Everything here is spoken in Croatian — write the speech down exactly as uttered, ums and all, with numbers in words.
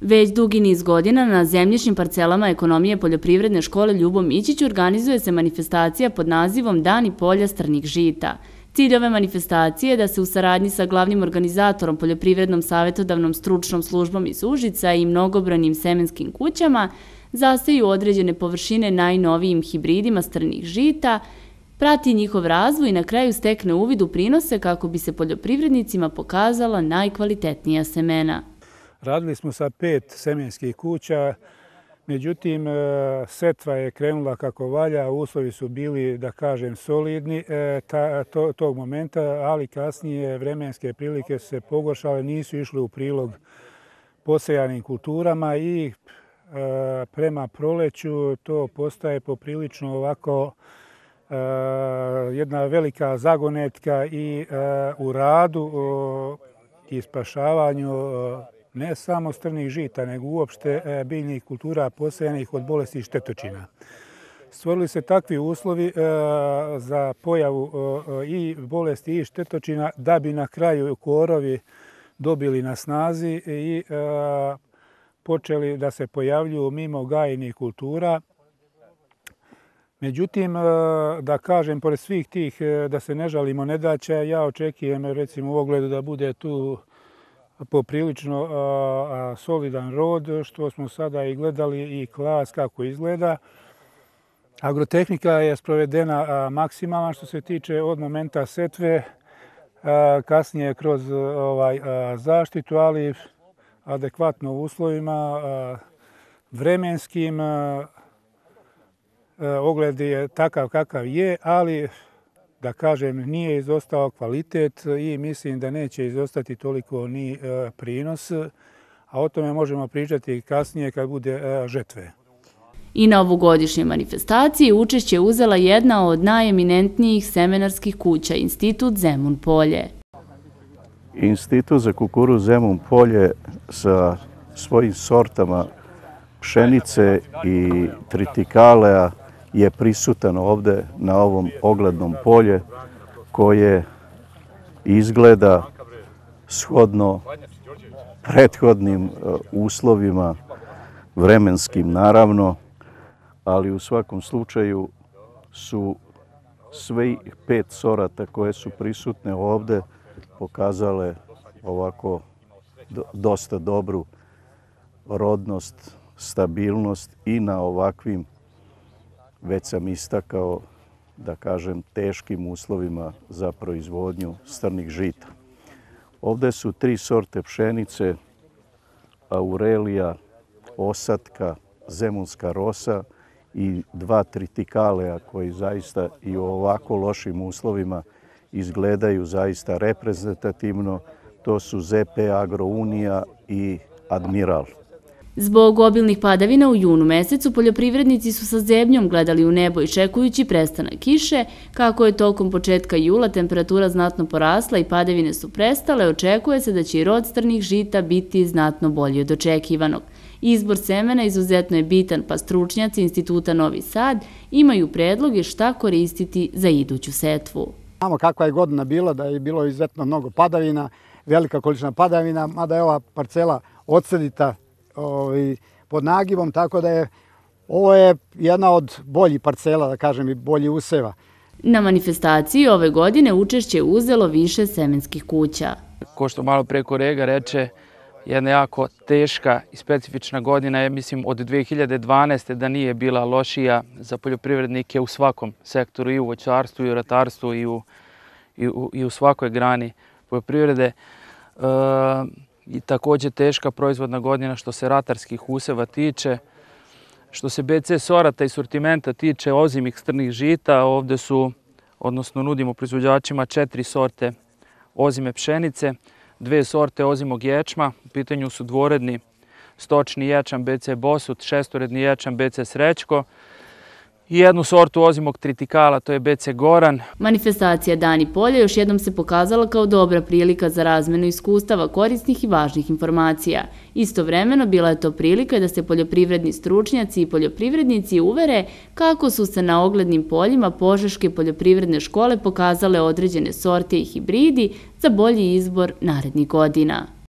Već dugi niz godina na zemljišnim parcelama ekonomije poljoprivredne škole Ljubo Mićić organizuje se manifestacija pod nazivom Dani polja strnih žita. Cilj ove manifestacije je da se u saradnji sa glavnim organizatorom Poljoprivrednom savjetodavnom stručnom službom iz Užica i mnogobrojnim semenskim kućama zaseju određene površine najnovijim hibridima strnih žita, prati njihov razvoj i na kraju stekne uvid u prinose kako bi se poljoprivrednicima pokazala najkvalitetnija semena. Radili smo sa pet semenskih kuća, međutim setva je krenula kako valja, uslovi su bili, da kažem, solidni ta, to, tog momenta, ali kasnije vremenske prilike su se pogoršale, nisu išle u prilog posejanim kulturama i e, prema proleću to postaje poprilično ovako e, jedna velika zagonetka i e, u radu o, i spašavanju o, ne samo strnih žita, nego uopšte biljnih kultura posejanih od bolesti i štetočina. Stvorili se takvi uslovi za pojavu i bolesti i štetočina da bi na kraju korovi dobili na snazi i počeli da se pojavljuju mimo gajenih kultura. Međutim, da kažem, pored svih tih, da se ne žalimo nedaća, ja očekujem recimo u ogledu da bude tu poprilično a, solidan rod, što smo sada i gledali i klas kako izgleda. Agrotehnika je sprovedena a, maksimalna što se tiče od momenta setve, a, kasnije kroz ovaj, a, zaštitu, ali adekvatno u uslovima a, vremenskim. A, a, ogled je takav kakav je, ali da kažem, nije izostao kvalitet i mislim da neće izostati toliko ni prinos, a o tome možemo pričati kasnije kad bude žetve. I na ovogodišnjoj manifestaciji učešće uzela jedna od najeminentnijih semenarskih kuća, Institut Zemun Polje. Institut za kukuruz Zemun Polje sa svojim sortama pšenice i tritikaleja je prisutan ovdje na ovom oglednom polje koje izgleda shodno prethodnim uslovima, vremenskim naravno, ali u svakom slučaju su sve pet sorata koje su prisutne ovdje pokazale ovako dosta dobru rodnost, stabilnost i na ovakvim, već sam istakao, da kažem, teškim uslovima za proizvodnju strnih žita. Ovdje su tri sorte pšenice, Aurelija, Osatka, Zemunska rosa i dva tritikaleja koji zaista i u ovako lošim uslovima izgledaju zaista reprezentativno. To su Z P Agrounija i Admiral. Zbog obilnih padavina u junu mesecu poljoprivrednici su sa zebnjom gledali u nebo i čekujući prestanak kiše. Kako je tokom početka jula temperatura znatno porasla i padavine su prestale, očekuje se da će i rod strnih žita biti znatno bolji od očekivanog. Izbor semena izuzetno je bitan, pa stručnjaci Instituta Novi Sad imaju predloge šta koristiti za iduću setvu. Znamo kakva je godina bila, da je bilo izuzetno mnogo padavina, velika količina padavina, mada je ova parcela odsedita pod nagivom, tako da je ovo je jedna od boljih parcela, da kažem, i boljih useva. Na manifestaciji ove godine učešće uzelo više semenskih kuća. Ko što malo pre kolega reče, jedna jako teška i specifična godina je, mislim, od dve hiljade dvanaeste. da nije bila lošija za poljoprivrednike u svakom sektoru, i u voćarstvu, i u ratarstvu, i u, i u, i u svakoj grani poljoprivrede. E, I također teška proizvodna godina što se ratarskih useva tiče. Što se B C sorata i sortimenta tiče ozimih strnih žita, ovdje su, odnosno nudimo proizvođačima četiri sorte ozime pšenice, dve sorte ozimog ječma, u pitanju su dvoredni stočni ječam B C Bosut, šestoredni ječam B C Srećko i jednu sortu ozimog tritikala, to je B C Goran. Manifestacija Dani polja još jednom se pokazala kao dobra prilika za razmenu iskustava korisnih i važnih informacija. Istovremeno bila je to prilika da se poljoprivredni stručnjaci i poljoprivrednici uvere kako su se na oglednim poljima Požeške poljoprivredne škole pokazale određene sorte i hibridi za bolji izbor narednih godina.